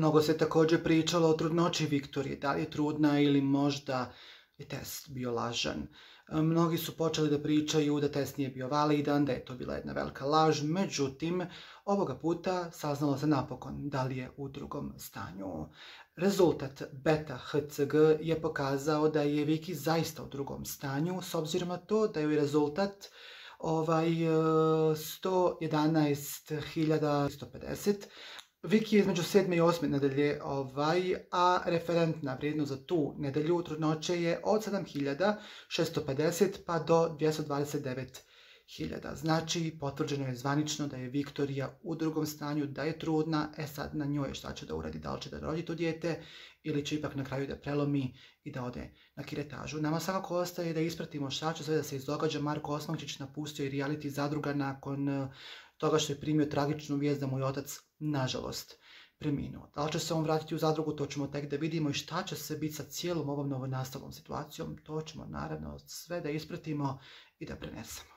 Mnogo se također pričalo o trudnoći Viktorije, da li je trudna ili možda je test bio lažan. Mnogi su počeli da pričaju da test nije bio validan, da je to bila jedna velika laž, međutim, ovoga puta saznalo se napokon da li je u drugom stanju. Rezultat beta HCG je pokazao da je Viki zaista u drugom stanju, s obzirom na to da je rezultat 111.150. Viki je između 7. i 8. nedelje, a referentna vrijednost za tu nedelju trudnoće je od 7.650 pa do 229.000. Znači, potvrđeno je zvanično da je Viktorija u drugom stanju, da je trudna, sad na njoj šta će da uradi, da li će da rodi to dijete ili će ipak na kraju da prelomi i da ode na kiretažu. Nama svakako ostaje da ispratimo šta će sve da se izdogađa. Marko Osmančić napustio i reality Zadruga nakon toga što je primio tragičnu vijest da mu je otac, nažalost, preminuo. Da li će se on vratiti u Zadrugu, to ćemo tek da vidimo, i šta će se biti sa cijelom ovom novonastalom situacijom, to ćemo naravno sve da ispratimo i da prenesemo.